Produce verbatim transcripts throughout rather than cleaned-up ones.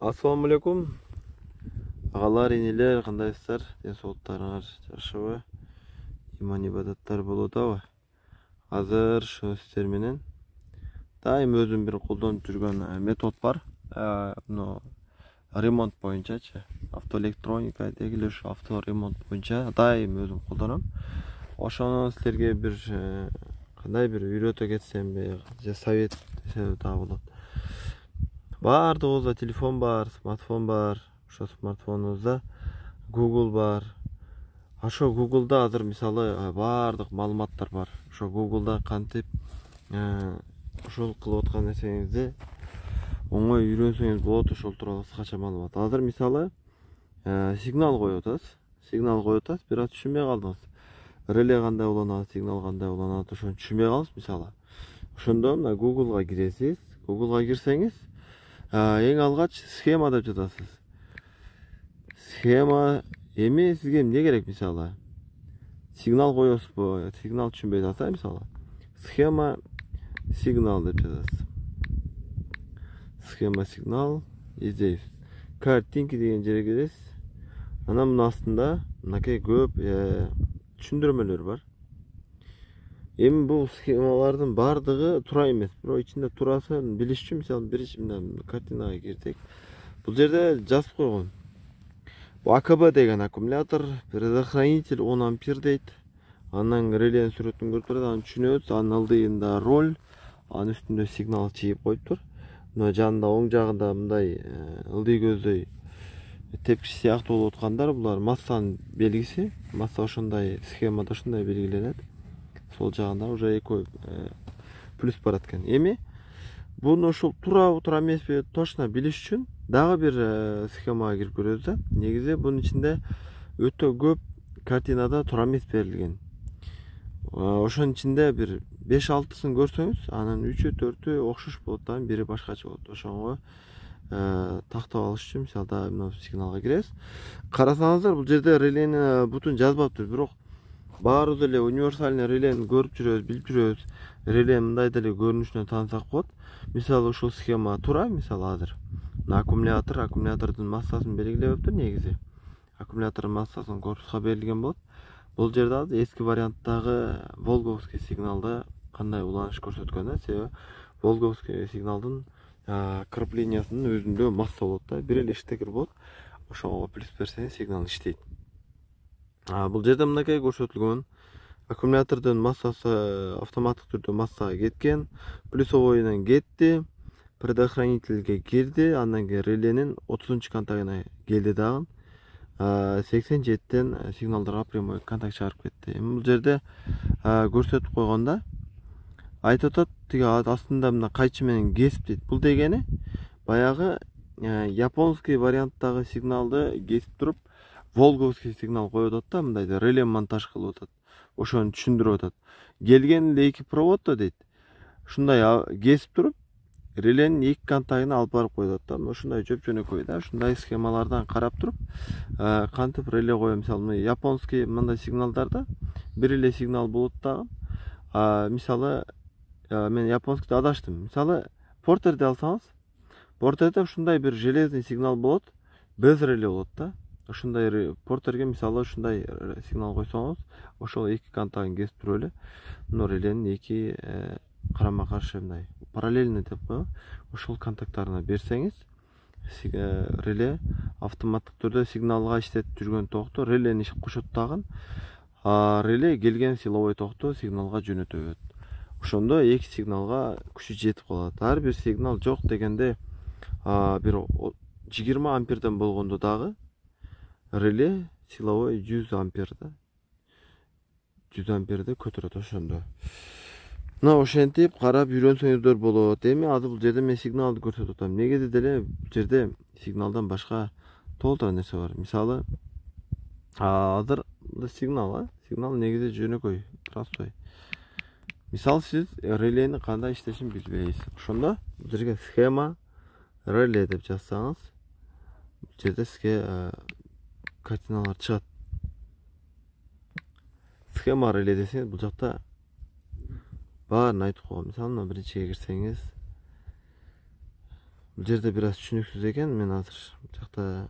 Ассаламу алейкум. Агалар, энелер, кандайсыздар? Ден соолуктарыңар жакшыбы? Иман ибадаттар болуп атабы? Азыр ушул сиздер менен дайым өзүм бир колдонуп жүргөн метод бар. Мына ремонт боюнчачы, автоэлектроника деги эле ушу авто ремонт боюнча дайым өзүм колдоном. Ошону силерге бир кандай бир үйрөтө кетсемби, же совет десе да болот. Баардыгыбызда телефон бар, смартфон бар. Ошо смартфонубузда Google бар. Ошо Google'да азыр мисалы баардык маалыматтар бар. Ошо Google'да кантип ошол кылып аткан нерсеңизди оңой үйрөнсөңүз болот, ошол тууралуу кыскача маалымат. Азыр мисалы сигнал коюп атасыз. Сигнал коюп атасыз, бирок түшүнбөй калдыңыз. Реле кандай уланат, сигнал кандай уланат, ошону түшүнбөй калдыңыз мисалы. Ошондо мына Google'га киресиз. Google'га кирсеңиз, эң алгач схема деп жатасыз. Схема эми сизге эмне керек мисалы? Сигнал коесузбу? Сигнал түшүнбөй атасыз, мисалы. Схема сигнал деп жазасыз. Схема сигнал издейсиз. Картинки деген жерге киресиз. Анан мына астында мынакей көп түшүндүрмөлөр бар. Эми бул схемалардын баардыгы туура эмес, бирок ичинде туурасын билиш үчүн мисалы биринчи мына картинага кирдик. Бул жерде жазып койгон. А К Б деген аккумулятор, предохранитель он ампер дейт. Анан реленин сүрөтүн көрүп турат, аны түшүнөбүз. Анын ылдыйында роль, анын үстүндө сигнал чийип коюптур. Мына жанында оң жагында мындай ылдый көздөй тепкич сыяктуу болуп аткандар, булар массанын белгиси. Масса ошондой схемада ушундай белгиленет. Сол жагында уже эки плюс барат экен. Эми буну ушул туурабы, туура эмеспи точно билиш үчүн дагы бир схемага кирип көрөбүз да. Негизи бунун ичинде өтө көп картинада туура эмес берилген. Ошонун ичинде бир беш алтысын көрсөңүз, анын үчү төртү окшош болот да, бири башкача болот. Ошого тактап алыш үчүн мисалда мына сигналга киресиз. Карасаңыздар, бул жерде релени бутун жазбаптыр, бирок баарыбыз эле универсальный релени көрүп жүрөбүз, билип жүрөбүз. Реле мындай деле көрүнүшүнөн таанысак болот. Мисалы ушул схема туура, мисалы азыр мына аккумулятор, аккумулятордун массасын белгилебептир негизи. Аккумулятордун массасын корпуска берилген болот. Бул жерде азыр эски варианттагы волговский сигналда кандай уланыш көрсөткөн да, себеби волговский сигналдын креплениясынын өзүндө масса болот да, бир эле штекер болот. Ошого плюс берсеңиз сигнал иштейт. Бул жерде мынакей көрсөтүлгөн. Аккумулятордун массасы автоматтык түрдө массага кеткен, плюсовойунан кетти, предохранительге кирди, андан кийин реленин отузунчу контагына келди дагы. сексен жетиден сигналдарга прямой контакт чыгарып кетти. Эми бул жерде көрсөтүп койгондо айтып атат, тиги астында мына кайчы менен кесип дейт. Бул дегени баягы японский варианттагы сигналды кесип туруп волговский сигнал коюп атат да, мындай реле монтаж кылып атат. Ошону түшүндүрүп атат. Келген эле эки проводдо дейт. Ушундай кесип туруп реленин эки контагына алып барып коюп атат да. Ушундай жөп-жөнөкөй да, ушундай схемалардан карап туруп кантип реле коем. Мисалы японский мындай сигналдарда бир эле сигнал болот дагы. Мисалы мен японскийде адаштым. Мисалы портерди алсаңыз, портерде ушундай бир железный сигнал болот, без реле болот да. Ушундай портерге мисалы ушундай сигнал койсоңуз, ошол эки контагын кесип туруп эле мына реленин эки карама каршы мындай параллельный деп коебу, ошол контакттарына берсеңиз, реле автоматтык түрдө сигналга иштетип жүргөн токту релени кошот дагы, реле келген силовой токту сигналга жөнөтө берет. Ошондо эки сигналга күчү жетип калат. Ар бир сигнал жок дегенде бир жыйырма амперден болгондо дагы реле силовой жүз ампер да. жүз амперди көтөрөт ошондо. Мына ошентип карап үйрөнсөңүздөр болот. Эми азыр бул жерде мен сигналды көрсөтүп атам. Негизи деле бул жерде сигналдан башка толтура нерсе бар. Мисалы азыр сигнал, сигнал негизи жөнөкөй, простой. Мисалы сиз релени кандай иштешин билбейсиз. Ошондо бул жерге схема реле деп жазсаңыз, бул жерде сизге картиналар чыгат. Схема реле десеңиз, бул жакта баарын айтып койгон. Мисалы, биринчиге кирсеңиз, Бул жерде бир аз түшүнүксүз экен. Мен азыр бул жакта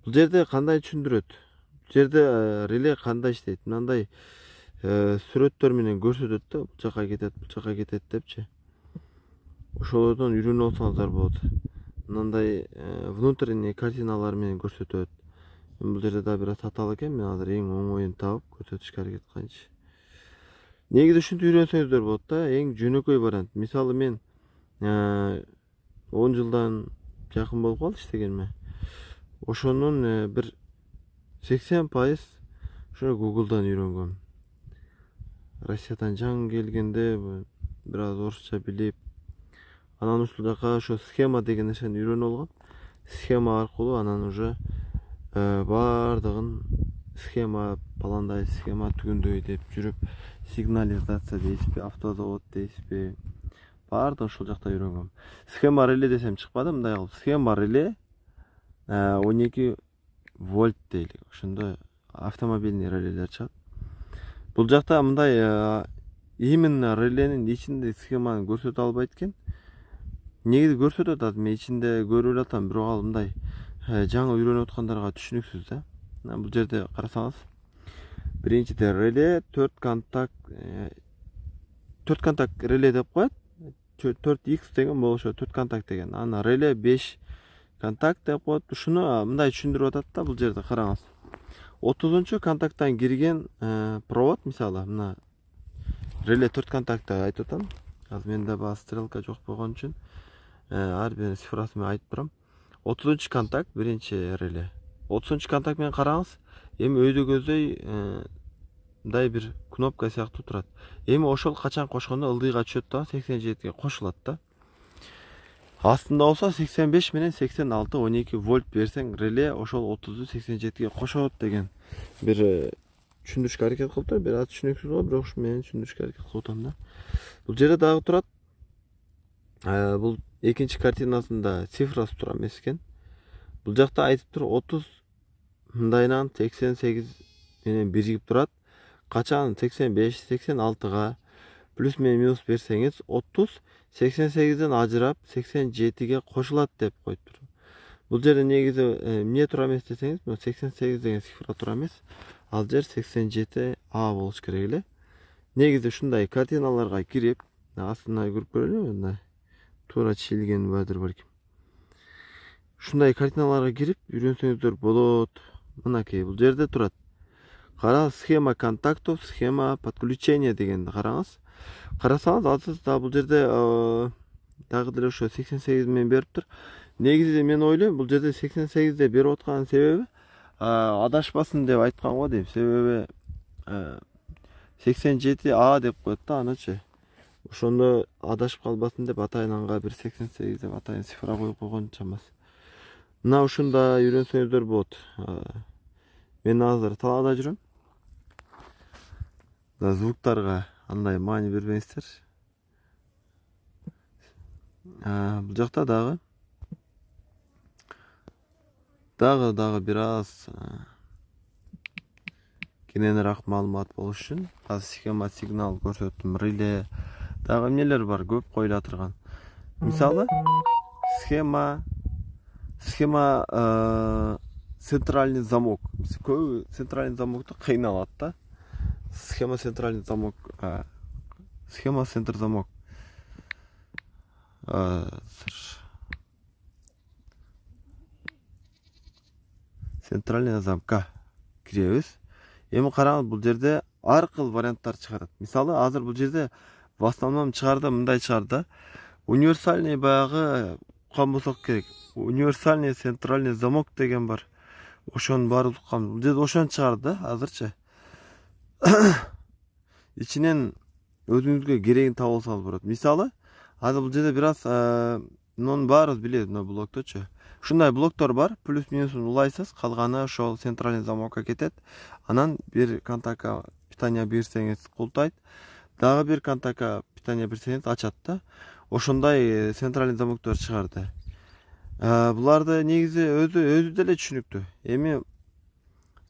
бул жерде кандай түшүндүрөт? Бул жерде реле кандай иштейт? Мындай сүрөттөр менен көрсөтөт да, бул жака кетет, бул жака кетет депчи. Ошолордон үйрөнүп алсаңыздар болот. Мындай внутренний картиналар менен көрсөтөт. Бул жерде да бир аз татаал экен. Мен азыр эң оңоюн табып көрсөтүшкө аракет кылайынчы. Негизи ушинтип үйрөнсөңүздөр болот да. Эң жөнөкөй вариант. Мисалы мен он жылдан жакын болуп калды иштегениме. Ошонун бир сексен пайыз ошо Google'дан үйрөнгөм. Россиядан жаңы келгенде бир аз орусча билип, анан ушул жака ошо схема деген нерсени үйрөнүп алгам. Схема аркылуу анан уже бардыгын схема пландай, схема түгөндөй деп жүрүп, сигнализация дейсизби, автозавод дейсизби, бардыгын ушул жакта үйрөнгөм. Схема реле десем чыкпады, мындай кылып схема реле он эки вольт дейли. Ошондо автомобильный релелер чыгат. Бул жакта мындай именно реленин ичинде схеманы көрсөтө албайт экен. Негизи көрсөтөт, азыр мен ичинде көрүп элатам, бирок ал мындай жаңы үйрөнүп аткандарга түшүнүксүз да. Бул жерде карасаңыз, биринчиде реле төрт контакт төрт контакт реле деп коет. төрт икс деген болушу, төрт контакт деген. Анан реле беш контакт деп коет. Ушуну мындай түшүндүрүп атат да, бул жерде караңыз. отузунчу контакттан кирген провод, мисалы, мына реле төрт контактты айтып атам. Азыр менде баа стрелка жок болгон үчүн ар бир цифрасы менен айтып турам. отузунчу контакт биринчи реле. отузунчу контакт менен караңыз. Эми өйдө көздөй мындай бир кнопка сыяктуу турат. Эми ошол качан кошкондо ылдыйга түшөт да, сексен жетиге кошулат да. Астында болсо сексен беш менен сексен алты он эки вольт берсең, реле ошол отузду сексен жетиге кошот деген бир түшүндүрүшкө аракет кылып тур. Бир аз түшүнүксүз болот, бирок ушу менен түшүндүрүшкө аракет кылып атам да. Бул жерде дагы турат. Бул экинчи картинасында цифрасы тура эмес экен. Бул жакта айтып тур отуз мындайынан сексен сегиз менен биригип турат. Качан сексен беш сексен алтыга плюс менен минус берсеңиз, отуз сексен сегизден ажырап сексен жетиге кошулат деп коюптур. Бул жерде негизи эмне тура эмес десеңиз, сексен сегиз деген цифра тура эмес. Ал жер сексен жети А болуш керек эле. Негизи ушундай картиналарга кирип, астына көрүп көрөлү, мындай туура чийилген бадыр балким. Ушундай картиналарга кирип үйрөнсөңүздөр болот. Мынакей бул жерде турат. Кара, схема контактов, схема подключения дегенди караңыз. Карасаңыз, азыр да бул жерде дагы деле ошо сексен сегиз менен бериптир. Негизи мен ойлойм, бул жерде сексен сегизде берип аткан себеби адашпасын деп айткан го дейм. Себеби сексен жети А деп коет да, анычы. Ошондо адашып калбасын деп атайын анга бир сексен сегиз деп атайын цифра коюп койгон чамасы. Мына ушунда үйрөнсөңүздөр болот. Мен азыр талаада жүрөм. Да звуктарга андай маани бербеңиздер. Бул жакта дагы дагы дагы бир аз кененирээк маалымат болуш үчүн азыр схема сигнал көрсөттүм. Реле дагы эмнелер бар, көп коюла турган. Мисалы, схема схема центральный замок. Көбү центральный замокты кыйналат да. Схема центральный замок, схема центр замок. Центральный замка киребиз. Эми караңыз, бул жерде ар кыл варианттар чыгарат. Мисалы, азыр бул жерде в основном чыгарды, мындай чыгарды. Универсальный баягы уккан болсок керек. Универсальный центральный замок деген бар. Ошонун баары уккан. Бул жерде ошону чыгарды азырчы. Ичинен өзүңүзгө керегин таап алсаңыз болот. Мисалы, азыр бул жерде бир аз мунун баарыбыз билебиз, мына блокточу. Ушундай блоктор бар, плюс минусун улайсыз, калганы ошол центральный замокко кетет. Анан бир контактка питание берсеңиз култайт, дагы бир контактка питание берсеңиз ачат да. Ошондой центральный замоктор чыгарды. Буларды негизи өзү өзү деле түшүнүктүү. Эми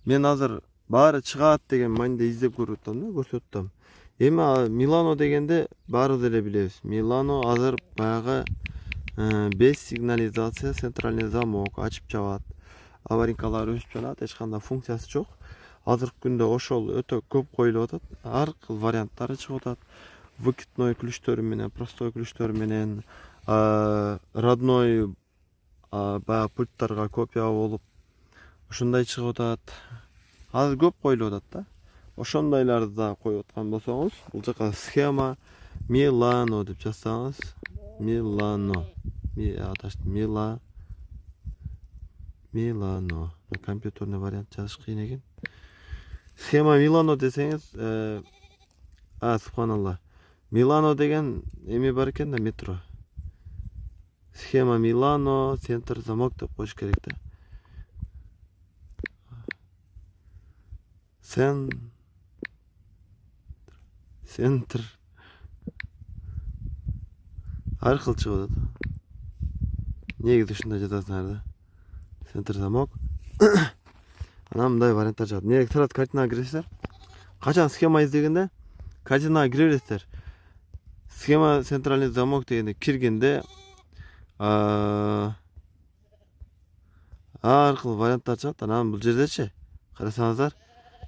мен азыр баары чыгат деген мааниде издеп көрүп атам да, көрсөтүп атам. Эми Милано дегенде баары деле билебиз. Милано азыр баягы без сигнализация, центральный замок ачып жабат, аварийкалар өсүп жанат, эч кандай функциясы жок. Азыркы күндө ошол өтө көп коюлуп атат, ар кыл варианттары чыгып атат. Выкидной ключтөрү менен, простой ключтөр менен, родной баягы пульттарга копия болуп ушундай чыгып атат. Азыр көп коюлуп атат да. Ошондойларды да коюп аткан болсоңуз, бул жака схема Milano деп жазсаңыз, Milano. Мила Milano. Компьютерный вариант жазыш кыйын экен. Схема Milano десеңиз, а, субханалла. Milano деген эме бар экен да, метро. Схема Milano, центр замок деп коюш керек да. Сен Центр ар кыл чыгып атат. Негизи ушундай жазасыңар да. Центр замок. Анан мындай варианттар чыгат. Негизи сразу картинага киресиздер. Качан схема издегенде картинага кире бересиздер. Схема центральный замок дегенде киргенде ар кыл варианттар чыгат. Анан бул жердечи карасаңыздар,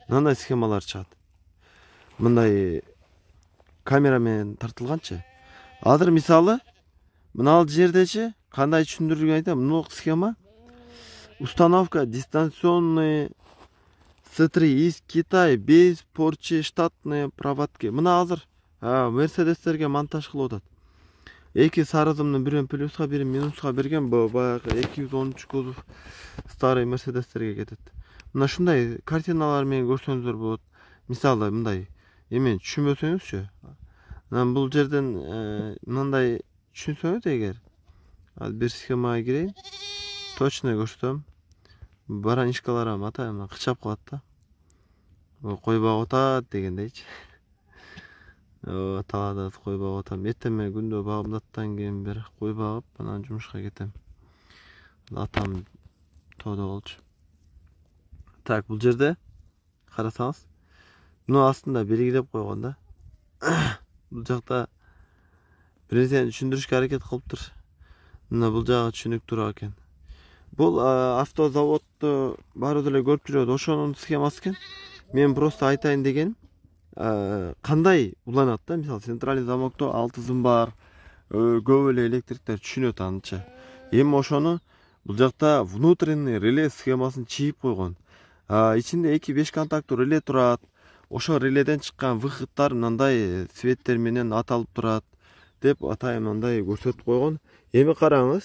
мындай схемалар чыгат. Мындай камера менен тартылганчы. Азыр мисалы мына жердечи кандай түшүндүрүүгө айтам, мына схема установка дистанционный С три из Китай без порчи штатные проводки. Мына азыр Мерседестерге монтаж кылып атат. Эки сары зымны бирин плюска, бирин минуска берген, баягы эки жүз он үч кузов старый Мерседестерге кетет. Мына ушундай картиналар менен көрсөңүздөр болот. Мисалы мындай эмен түшүнбөсөңүзчү. Анан бул жерден мындай түшүнсөңүз эгер, азыр бир схемага кирейин. Точно көрсөтөм. Баранишкалар атайм, кычап калат да. Койбак атат дегендейчи. О, талаада койбак атам. Эртеме күндө багымдаттан кийин бир кой багып, анан жумушка кетем. Атам тоодо болчу. Так, бул жерде карасаңыз, муну астында белгилеп койгон да. Бул жакта бир нерсени түшүндүрүшкө аракет кылыптыр. Мына бул жагы түшүнүктүү экен. Бул автозаводду баары деле көрүп жүрөт, ошонун схемасы экен. Мен просто айтайын дегеним, кандай уланат да, мисалы центральный замокто алты зым бар, көп эле электриктер түшүнөт анча. Эми ошону бул жакта внутренний реле схемасын чийип койгон. Ичинде эки беш контакттуу реле турат. Ошо реледен чыккан выходтар мындай цветтер менен аталып турат деп атайын мындай көрсөтүп койгон. Эми караңыз,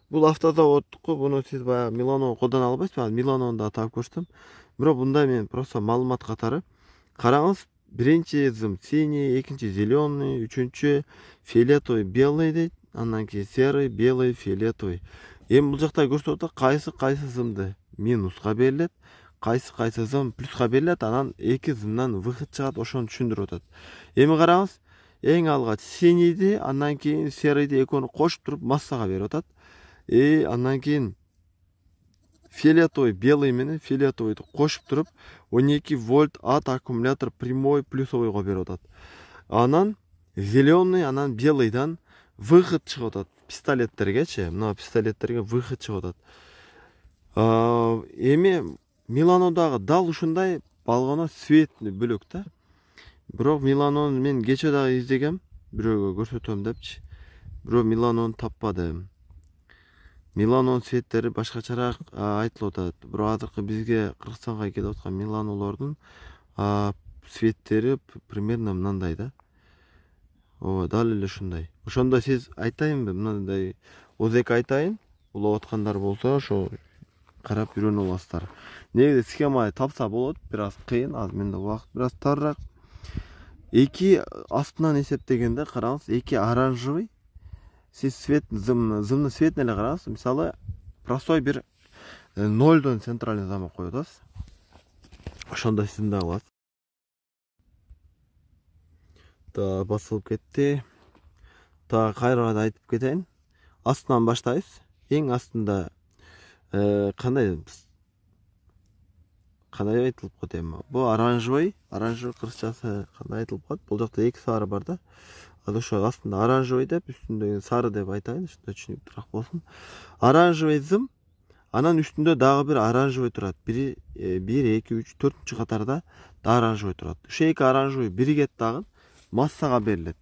бул автозаводдуку, буну сиз баягы Milano колдоно албайсыз, мен Milano'ну да таап көрсөтөм. Бирок мындай мен просто маалымат катары. Караңыз, биринчи зым синий, экинчи зеленый, үчүнчү фиолетовый, белый дейт, андан кийин серый, белый, фиолетовый. Эми бул жакта көрсөтүп атат, кайсы кайсы зымды минуска берилет, кайсы кайсы зым плюска берилет, анан эки зымдан выход чыгат, ошону түшүндүрүп атат. Эми караңыз, эң алгач синийди, андан кийин серыйды экөөнү кошуп туруп массага берип атат. И андан кийин фиолетовый, белый менен фиолетовыйды кошуп туруп он эки вольт от аккумулятор прямой плюсовойго берип атат. Анан зеленый, анан белыйдан выход чыгып атат. Пистолеттергечи, мына пистолеттерге выход чыгып атат. Эми Milano'дагы дал ушундай балгоно светный бөлөк да. Бирок Milano'ну мен кече дагы издегем, бирөөгө көрсөтөм депчи. Бирок Milano'ну таппадым. Milano'нун светтери башкачараак айтылып атат. Бирок азыркы бизге Кыргызстанга келип аткан Milano'лордун светтери примерно мындай да. Ооба, дал эле ушундай. Ошондо сиз айтайынбы, мындай озек айтайын, улап аткандар болсо, ошо карап үйрөнүп аласыздар. Негизи схема тапса болот, бир аз кыйын, азыр менде убакыт бир аз тарыраак. Эки астынан эсептегенде караңыз, эки оранжевый, сиз свет зым зымны светин эле караңыз. Мисалы, простой бир нолдон центральный замок коюп атасыз. Ошондо сиздин да болот. Та басылып кетти. Та кайрадан айтып кетейин. Астынан баштайбыз. Эң астында кандай кандай айтылып коет эми? Бул оранжевый, оранжевый кыргызчасы кандай айтылып коет? Бул жакта эки сары бар да. ошо астында оранжевый деп, үстүндө сары деп айтайын, ушундай түшүнүктүүрөөк болсун. Оранжевый зым, анан үстүндө дагы бир оранжевый турат. бир, бир, эки, үч, төртүнчү катарда да оранжевый турат. Ушул эки оранжевый биригет дагы массага берилет.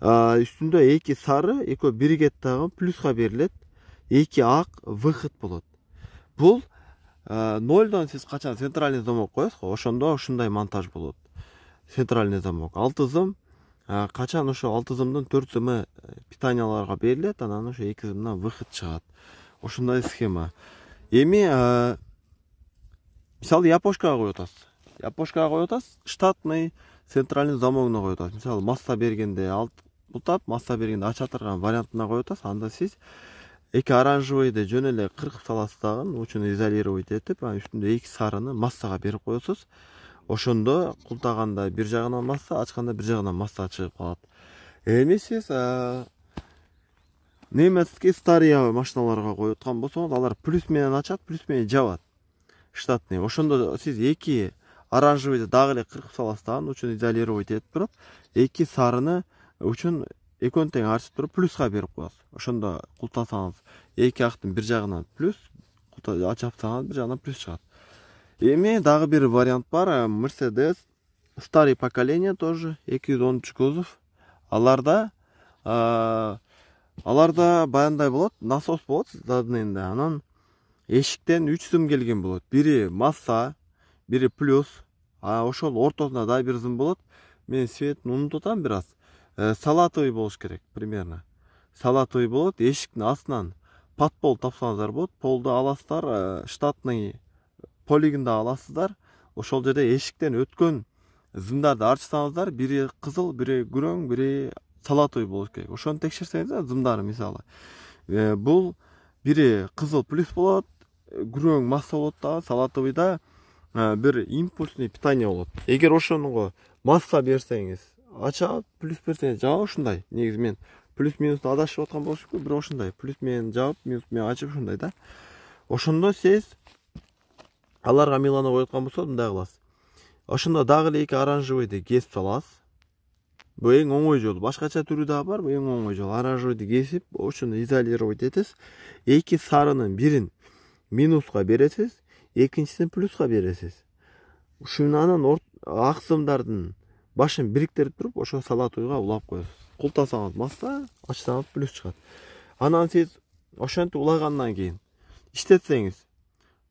Үстүндө эки сары, экөө биригет дагы плюска берилет. эки ак выход болот. Бул нолдон сиз качан центральный замок коесуз го, ошондо ушундай монтаж болот. Центральный замок. алты зым, качан ошо алты зымдын төрт зымы питанияларга берилет, анан ошо эки зымдан выход чыгат. Ошондой схема. Эми мисалы япошкага коюп атасыз. Япошкага коюп атасыз, штатный центральный замогуна коюп атасыз. Мисалы масса бергенде алт бутап, масса бергенде ача турган вариантына коюп атасыз. Анда сиз эки оранжевыйды жөн эле кыркып саласыз дагы, учуну изолировать этип, анан үстүндө эки сарыны массага берип коесуз. Ошондо култаганда бир жагынан масса, ачканда бир жагынан масса чыгып калат. Эми сиз немецкий старый машиналарга коюп аткан болсоңуз, алар плюс менен ачат, плюс менен жабат. Штатный. Ошондо сиз эки оранжевыйды дагы эле кыркып саласыз дагы, учуну изолировать этип туруп, эки сарыны учун экөөнү тең ачып туруп плюска берип коесуз. Ошондо култасаңыз эки актын бир жагынан плюс, ачапсаңыз бир жагынан плюс чыгат. Эми дагы бир вариант бар. Mercedes старый поколение тоже эки жүз онунчу кузов. Аларда аларда баяндай болот, насос болот заднийинде. Анан эшиктен үч зым келген болот. Бири масса, бири плюс. А ошол ортосунда да бир зым болот. Мен светин унутуп атам бир аз. Салатовый болуш керек примерно. Салатовый болот. Эшиктин астынан подпол тапсаңыздар болот. Полду аласыздар, штатный полигонду аласыздар. Ошол жерде эшиктен өткөн зымдарды ачсаңыздар, бири кызыл, бири күрөң, бири салатовый болуш керек. Ошону текшерсеңиздер зымдары мисалы. Бул бири кызыл плюс болот, күрөң масса болот да, салатовыйда бир импульсный питание болот. Эгер ошонго масса берсеңиз, ачат, плюс берсеңиз жабат, ушундай. Негизи мен плюс минусты адашып аткан болуш керек, бирок ушундай. Плюс менен жабып, минус менен ачып ушундай да. Ошондо сиз аларга милана коюп аткан болсо, мындай кыласыз. Ошондо дагы эле эки оранжевыйды кесип саласыз. Бул эң оңой жолу. Башкача түрү дагы бар, бул эң оңой жол. Оранжевыйды кесип, ошону изолировать этесиз. Эки сарынын бирин минуска бересиз, экинчисин плюска бересиз. Ушунан ак зымдардын башын бириктирип туруп, ошо салатовыйга улап коесуз. Култасаңыз масса, ачсаңыз плюс чыгат. Анан сиз ошентип улагандан кийин иштетсеңиз,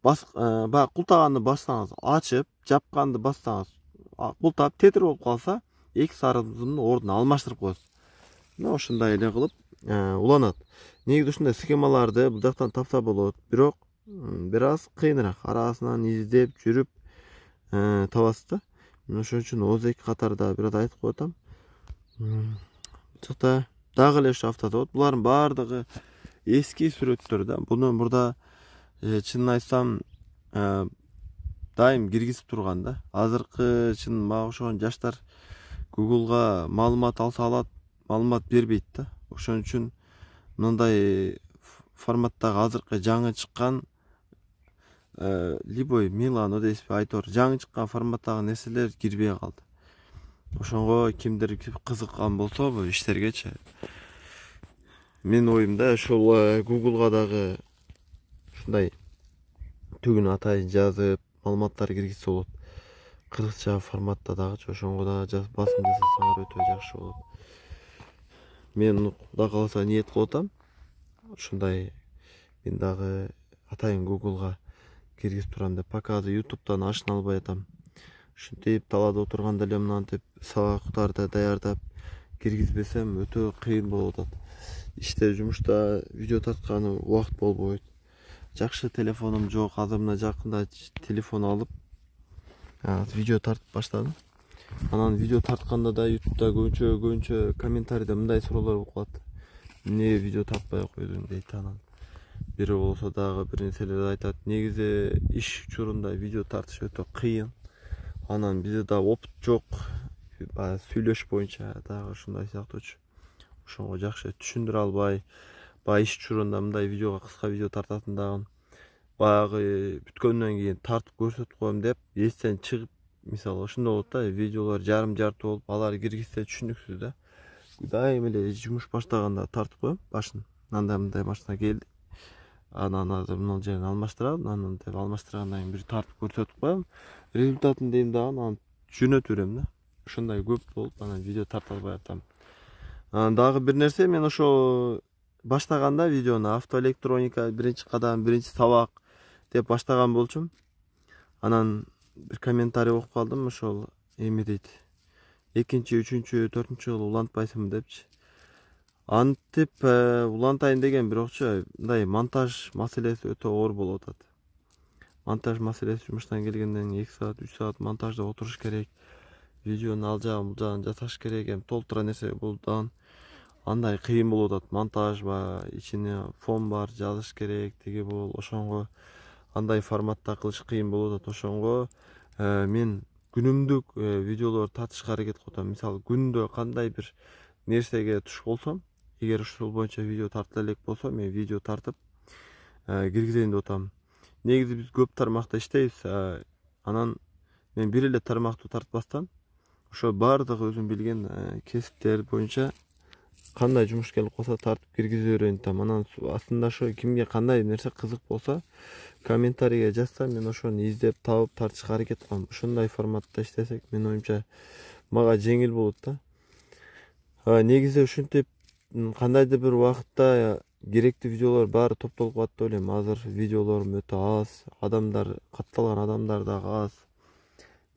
баягы култаганды бассаңыз, ачып, жапканды бассаңыз, култап тетир болуп калса, эки сары зымдын ордун алмаштырып коесуз. Мына ошондой эле кылып уланат. Негизи ушундай схемаларды бул жактан тапса болот, бирок бир аз кыйыныраак. Арасынан издеп жүрүп табасыз да. Ошон үчүн Оз эки катарда бир аз айтып коетам. Бул жакта дагы эле ушу автозавод. Булардын баардыгы эски сүрөттөр да. Буну мурда чынын айтсам дайым киргизип турган да. Азыркы чын мага окшогон жаштар Google'га маалымат алса алат, маалымат бербейт да. Ошон үчүн мындай форматтагы азыркы жаңы чыккан любой Милан, Одеспи, Айтор жаңы чыккан форматтагы нерселер кирбей калды. Ошонго кимдир кызыккан болсо бул иштергечи. Менин оюмда ошол Google'га дагы ушундай түгүн атайын жазып, маалыматтар киргизсе болот. Кыргызча форматта дагычы ошонго да басым жасасаңар өтө жакшы болот. Мен Кудай кааласа ниет кылып атам. Ушундай мен дагы атайын Google'га киргизип турам деп, пока YouTube'дан ашына албай атам. Ушинтип талаада отурганда эле мынантип сабактарды даярдап киргизбесем өтө кыйын болуп атат. Иште, жумушта видео тартканы убакыт болбойт. Жакшы телефонум жок. Азыр мына жакында телефон алып видео тартып баштадым. Анан видео тартканда да YouTube'да көбүнчө көбүнчө комментарийде мындай суроолор болуп калат. Эмне видео тартпай койдуң дейт. Анан бири болсо дагы бир нерселерди айтат. Негизи иш учурунда видео тартыш өтө кыйын. Анан бизде да опыт жок. Баягы сүйлөш боюнча дагы ушундай сыяктуучу. Ошонго жакшы түшүндүрө албай, баягы иш учурунда мындай видеого кыска видео тартатындагын баягы бүткөндөн кийин тартып көрсөтүп коем деп эстен чыгып, мисалы ошондой болот да, видеолор жарым жарты болуп, алар киргизсе түшүнүксүз да. дайым эле жумуш баштаганда тартып коем башын. Андай мындай машина келди. Анан азыр мына жерин алмаштырам. Анан деп алмаштыргандан кийин бир тартып көрсөтүп коем. Результатын дейм дагы анан жөнөтүп берем да. Ошондой көп болуп анан видео тарта албай атам. Анан дагы бир нерсе, мен ошо баштаганда видеону автоэлектроника биринчи кадам, биринчи сабак деп баштаган болчумун. Анан бир комментарий окуп калдым, ошол эме дейт. экинчи, үчүнчү, төртүнчү жолу улантпайсыңбы депчи. Антип улантайын деген, бирокчу мындай монтаж маселеси өтө оор болуп атат. Монтаж маселеси жумуштан келгенден эки саат, үч саат монтажда отуруш керек. Видеону ал жагын бул жагын жасаш керек, эми толтура нерсе бул дагы андай кыйын болуп атат. Монтаж бар, ичине фон бар, жазыш керек, тиги бул, ошонго андай форматта кылыш кыйын болуп атат. Ошонго мен күнүмдүк видеолор тартышка аракет кылып атам. Мисалы, күндө кандай бир нерсеге туш болсом, эгер ушул боюнча видео тартыла элек болсо, мен видео тартып киргизейин деп атам. Негизи биз көп тармакта иштейбиз. Анан мен бир эле тармактуу тартпастан ошо баардыгы өзүм билген кесиптер боюнча кандай жумуш келип калса тартып киргизип берейин атам. Анан астында ошо кимге кандай нерсе кызык болсо комментарийге жазса, мен ошону издеп табып тартышка аракет кылам. Ушундай форматта иштесек, менин оюмча мага жеңил болот да. Негизи ушинтип кандайдыр бир убакытта керектүү видеолор баары топтолуп калат деп ойлойм. Азыр видеолорум өтө аз, адамдар, катталган адамдар дагы аз.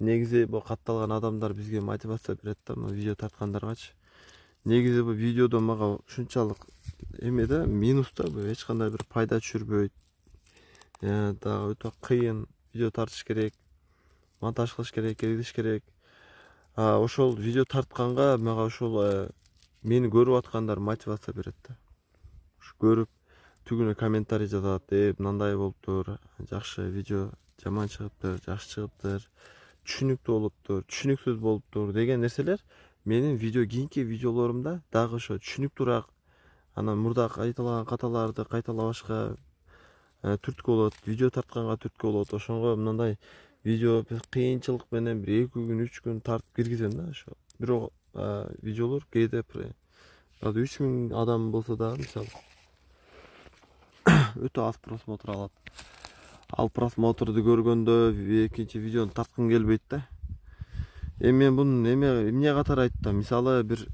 Негизи бул катталган адамдар бизге мотивация берет да, видео тарткандаргачы. Негизи бул видеодо мага ушунчалык эме да, минус да, бул эч кандай бир пайда түшүрбөйт. Дагы өтө кыйын, видео тартыш керек, монтаж кылыш керек, киргизиш керек. Ошол видео тартканга мага ошол мени көрүп аткандар мотивация берет да. Ушу көрүп түгүнө комментарий жазат, э мындай болуптур, жакшы видео, жаман чыгыптыр, жакшы чыгыптыр, түшүнүктүү болуптур, түшүнүксүз болуптур деген нерселер менин видео кийинки видеолорумда дагы ошо түшүнүктүүрөөк, анан мурда кайталаган каталарды кайталабашка түрткү болот, видео тартканга түрткү болот. Ошонго мындай видео кыйынчылык менен бир эки күн, үч күн тартып киргизем да. Ошо бирок видеолор кээде азыр үч миң адам болсо дагы, мисалы, өтө аз просмотр алат. Ал просмотрду көргөндө экинчи видеону тарткым келбейт да. Эми мен бунун эме эмне катары айттым? Мисалы, бир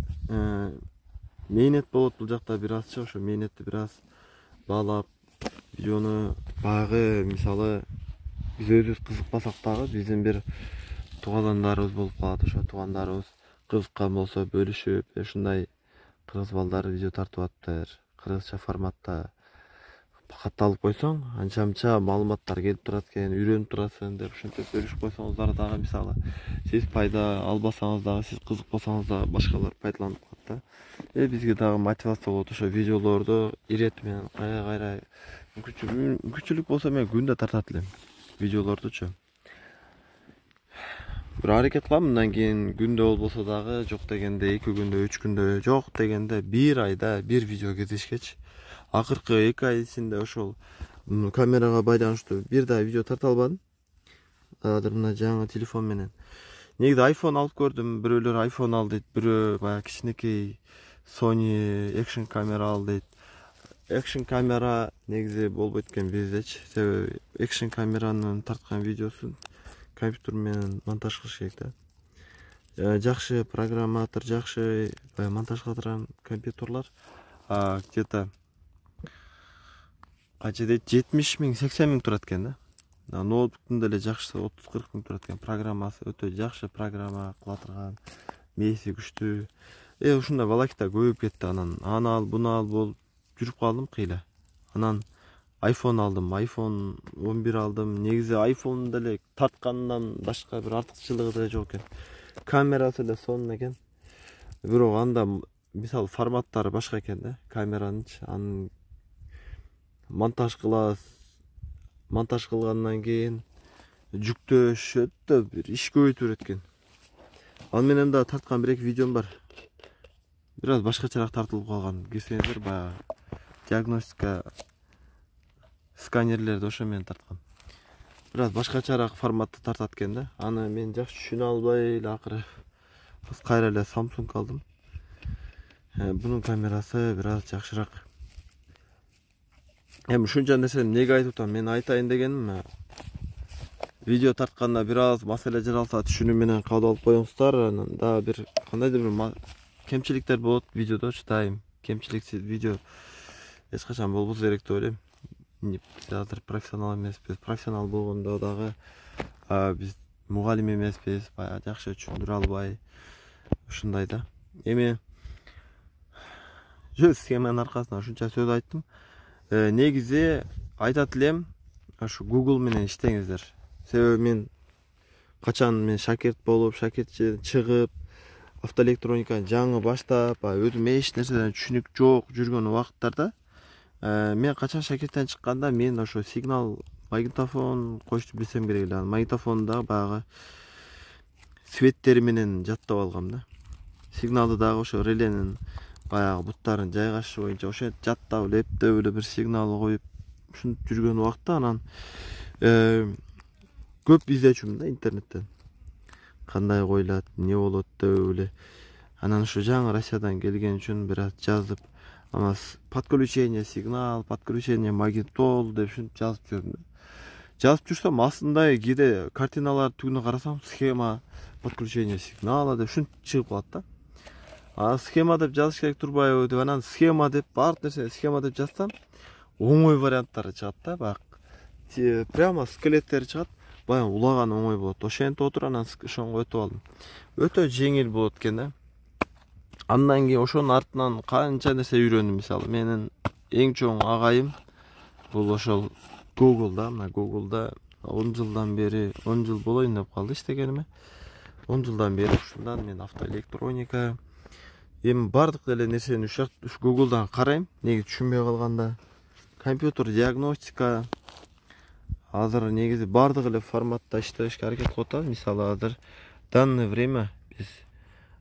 мээнет болот бул жакта бир азчы, ошо мээнетти бир аз баалап видеону баягы, мисалы, биз өзүбүз кызыкпасак дагы биздин бир туугандарыбыз болуп калат. Ошо туугандарыбыз кызыккан болсо бөлүшүп, ушундай кыргыз балдары видео тартып атыптыр, кыргызча форматта катталып койсоң, анча мынча маалыматтар келип турат экен, үйрөнүп турасың деп ушинтип бөлүшүп койсоңуздар дагы, мисалы, сиз пайда албасаңыз дагы, сиз кызыкпасаңыз дагы башкалар пайдаланып калат да. Э бизге дагы мотивация болот ошо видеолорду ирет менен кайра кайра мүмкүнчүлүк болсо мен күндө тартат элем видеолордучу. Бир аракет кылам, мындан кийин күндө болбосо дагы, жок дегенде эки күндө, үч күндө, жок дегенде бир айда бир видео киргизишкечи. Акыркы эки ай ичинде ошол камерага байланыштуу бир да видео тарта албадым. Азыр мына жаңы телефон менен. Негизи iPhone алып көрдүм, бирөөлөр iPhone ал дейт, бирөө баягы кичинекей Sony Action камера ал дейт. Action камера негизи болбойт экен биздечи. Себеби Action камеранын тарткан видеосун компьютер менен монтаж кылыш керек да. Жакшы программатор, жакшы монтаж кылдырган компьютерлар где-то кача дейт, жетимиш миң, сексен миң турат экен да. Ноутбуктун деле жакшысы отуз кырк миң турат экен. Программасы өтө жакшы программа кылатырган, мээси күчтүү. Э ушундай балакита көбөйүп кетти. Анан аны ал, буну ал болуп жүрүп калдым кыйла. Анан iPhone алдым, iPhone он бир алдым. Негизи iPhone деле тарткандан башка бир артыкчылыгы деле жок экен. Камерасы эле сонун экен. Бирок анда мисалы форматтары башка экен да, камеранычы. Анын монтаж кылабыз. Монтаж кылгандан кийин жүктөш өтө бир иш көбөйтүп берет экен. Ал менен да тарткан бир эки видеом бар. Бир аз башкачараак тартылып калган. Кесеңиздер, баягы диагностика сканерлерди ошо менен тарткан. Бир аз башкачараак форматта тартат экен да. Аны мен жакшы түшүнө албай эле акыры кайра эле Samsung алдым. Bunun kamerası biraz жакшыраак. Эми ушунча нерсени эмнеге айтып атам? Мен айтайын дегеним, видео тартканда бир аз маселе жаралса түшүнүү менен кабыл алып коюңуздар. Анан дагы бир кандайдыр бир кемчиликтер болот видеодо, чыдайм. Кемчиликсиз видео эч качан болбосо керек деп ойлойм. Биз азыр профессионал эмеспиз. Профессионал болгондо дагы биз мугалим эмеспиз. Баягы жакшы түшүндүрө албай ушундай да. Эми жөн схеманын аркасында ушунча сөз айттым. Негизи айтат элем, ушу Google менен иштеңиздер. Себеби мен качан мен шакирт болуп, шакиртчи чыгып, автоэлектрониканы жаңы баштап, өзүм эч нерседен түшүнүк жок жүргөн убакыттарда, мен качан шакирттен чыкканда мен ошо сигнал магнитофон коюшту билсем керек эле. Магнитофонду баягы светтери менен жаттап алгам да. Сигналды дагы ошо реленин баягы буттарын жайгашышы боюнча ошентип жаттап эле, эптеп эле бир сигнал коюп ушинтип жүргөн убакта анан көп издечүмүн да интернеттен. Кандай коюлат, эмне болот деп эле. Анан ушу жаңы Россиядан келген үчүн бир аз жазып, анан подключение сигнал, подключение магнитол деп ушинтип жазып жүрдүм. Жазып жүрсөм астында кээде картиналар түгүнө карасам схема подключение сигнала деп ушинтип чыгып калат да. А схема деп жазыш керек турбайбы деп анан схема деп баардык нерсе схема деп жазсам оңой варианттары чыгат да. Бак прямо скелеттери чыгат. Баягы улаган оңой болот. Ошентип отуруп анан ошонго өтүп алдым. Өтө жеңил болот экен да. Андан кийин ошонун артынан канча нерсе үйрөндүм. Мисалы менин эң чоң агайым бул ошол Google'да, мына Google'да он жылдан бери, он жыл болоюн деп калды иштегениме. он жылдан бери ушундан мен автоэлектроника эми бардык эле нерсени ушу Google'дан карайм. Неге түшүнбөй калганда компьютер диагностика азыр негизи бардык эле форматта иштешке аракет кылып атабыз. Мисалы азыр данное время биз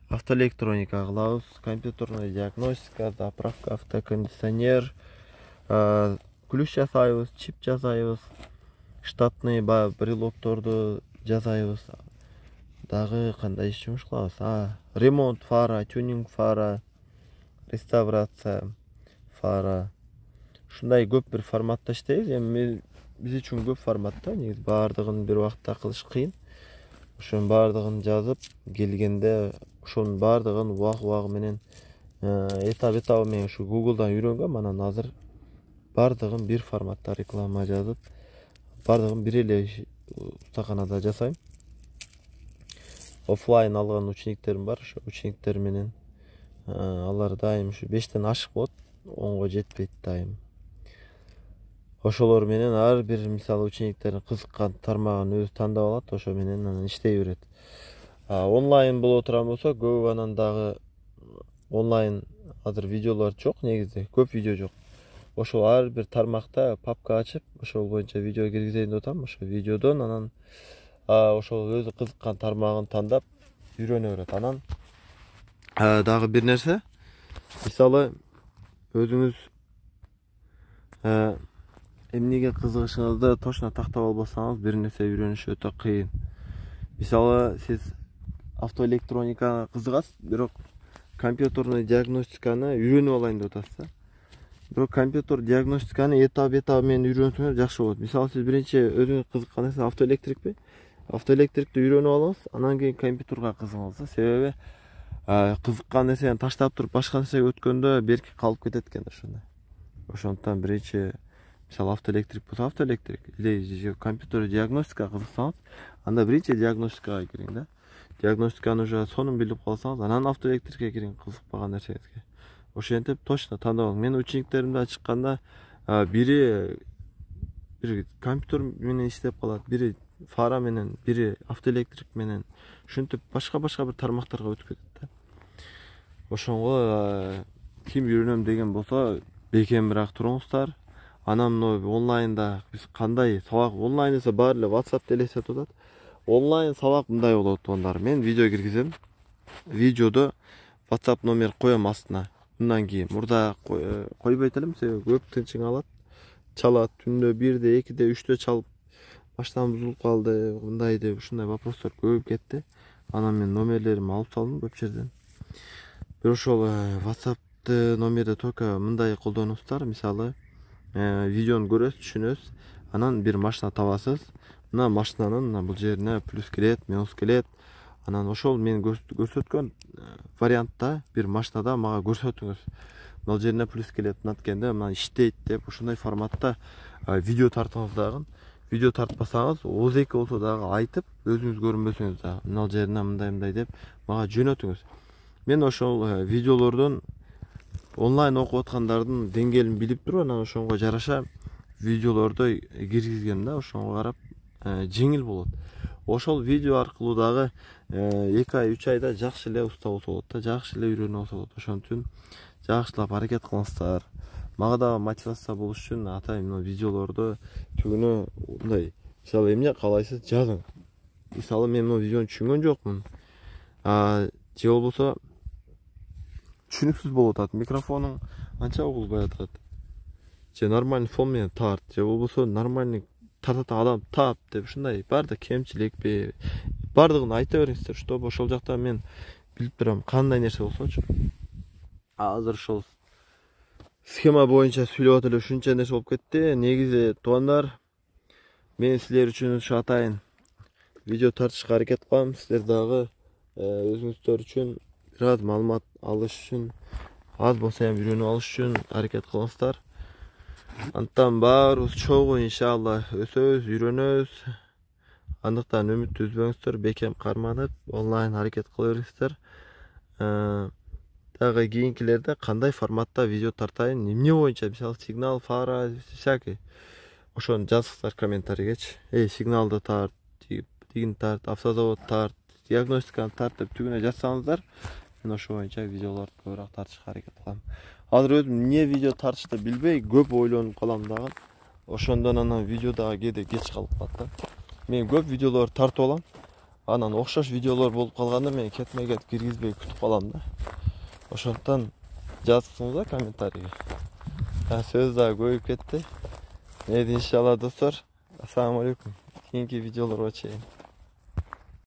автоэлектроника кылабыз, компьютерная диагностика, заправка, автокондиционер, ключ жасайбыз, чип жасайбыз, штатный баягы брелокторду жасайбыз. Дагы кандай иш жумуш кылабыз? А, ремонт фара, тюнинг фара, реставрация фара. Ушундай көп бир форматта иштейбиз. Эми биз үчүн көп форматта, негизи баардыгын бир убакытта кылыш кыйын. Ошонун баардыгын жазып келгенде ошонун баардыгын убак-убагы менен этап-этабы менен ушу Google'дан үйрөнгөм. Анан азыр баардыгын бир форматта реклама жазып, баардыгын бир эле устаканада жасайм. Оффлайн алган учениктерим бар, ошо учениктер менен алар дайым ушу бештен ашык болот, онго жетпейт дайым. Ошолор менен ар бир мисалы учениктердин кызыккан тармагын өзү тандап алат, ошо менен анан иштей берет. Онлайн боло турган болсо, көп анан дагы онлайн азыр видеолор жок, негизи көп видео жок. Ошол ар бир тармакта папка ачып, ошол боюнча видео киргизейин деп атам. Ошо видеодон анан ошол өзү кызыккан тармагын тандап үйрөнө берет. Анан дагы бир нерсе, мисалы өзүңүз эмнеге кызыгышыңызды точно тактап албасаңыз, бир нерсе үйрөнүш өтө кыйын. Мисалы сиз автоэлектроникага кызыгасыз, бирок компьютерный диагностиканы үйрөнүп алайын деп атасыз. Бирок компьютер диагностиканы этап-этабы менен үйрөнсөңүз жакшы болот. Мисалы сиз биринчи өзүңүз кызыккан нерсе автоэлектрикпи? Автоэлектрикти үйрөнүп алыңыз, анан кийин компьютерга кызыгыңыз. Себеби кызыккан нерсени таштап туруп башка нерсеге өткөндө берки калып кетет экен ошондой. Ошондуктан биринчи мисалы автоэлектрик болсо автоэлектрик или компьютер диагностика кызыксаңыз, анда биринчи диагностикага кириң да. Диагностиканы уже сонун билип калсаңыз, анан автоэлектрикке кириң кызыкпаган нерсеңизге. Ошентип точно тандап алың. Мен учениктеримде чыкканда бири бир компьютер менен иштеп калат, бири фара менен, бири автоэлектрик менен, ушинтип башка-башка бир тармактарга өтүп кетет да. Ошонго ким үйрөнөм деген болсо, бекемирээк туруңуздар. Анан онлайнда биз кандай сабак онлайн десе баары эле WhatsApp элестетип атат. Онлайн сабак мындай болот тугандар. Мен видео киргизем. Видеодо WhatsApp номер коем астына. Мындан кийин мурда койбойт элем, себеби көп тынчың алат. Чалат түндө бирде, экиде, үчтө чалып баштан бузулуп калды, мындай деп ушундай вопростор көп кетти. Анан мен номерлеримди алып салдым көп жерден. бир ошол WhatsApp'ты номерди только мындай колдонуңуздар. Мисалы, видеону көрөсүз, түшүнөсүз, анан бир машина табасыз. Мына машинанын бул жерине плюс келет, минус келет. Анан ошол мен көрсөткөн вариантта бир машинада мага көрсөтүңүз. Мына жерине плюс келет, мынткенде мына иштейт деп ушундай форматта видео тартыңыз дагы. Видео тартпасаңыз, оз эки болсо дагы айтып, өзүңүз көрүнбөсөңүз дагы мына жерине мындай-мындай деп мага жөнөтүңүз. Мен ошол видеолордон онлайн окуп аткандардын деңгээлин билип туруп, анан ошонго жараша видеолорду киргизгем да, ошого карап жеңил болот. Ошол видео аркылуу дагы эки ай, үч айда жакшы эле уста болсо болот да, жакшы эле үйрөнүп алса болот. Ошон үчүн жакшылап аракет кылыңыздар. Мага дагы мотивация болуш үчүн атай мына видеолорду түгүнө мындай, мисалы эмне каалайсыз жазың. Мисалы мен мына видеону түшүнгөн жокмун. А же болбосо түшүнүксүз болуп атат, микрофонуң анча угулбай атат. Же нормальный фон менен тарт, же болбосо нормальный тартат адам тап деп ушундай баардык кемчилекпи баардыгын айта бериңиздер, чтобы ошол жакта мен билип турам кандай нерсе болсочу. Азыр ошол схема боюнча сүйлөп атып эле ушунча нерсе болуп кетти. Негизи туугандар, мен силер үчүн ушу атайын видео тартышка аракет кылам. Силер дагы өзүңүздөр үчүн бир аз маалымат алыш үчүн, аз болсо ham үйрөнүп алыш үчүн аракет кылыңыздар. Антан баарыбыз чогуу иншалла өсөбүз, үйрөнөбүз. Андыктан үмүттү үзбөңүздөр, бекем карманып, онлайн аракет кыла бериңиздер. Дагы кийинкилерде кандай форматта видео тартайын, эмне боюнча, мисалы сигнал, фара, всякий. Ошону жазыңыздар комментарийгечи. Эй, сигналды тарт, тигин тарт, автозавод тарт, диагностиканы тарт деп түгүнө жазсаңыздар, мен ошо боюнча видеолорду көбүрөөк тартышка аракет кылам. Азыр өзүм эмне видео тартышты билбей, көп ойлонуп калам дагы. Ошондон анан видео дагы кээде кеч калып калат да. Мен көп видеолор тартып алам. Анан окшош видеолор болуп калганда мен кетме кет киргизбей күтүп калам да. Ошондон жазсаңыздар комментарийге. Сөз дагы көбөйүп кетти. Мейли иншалла достор. Ассаламу алейкум. Кийинки видеолорго чейин.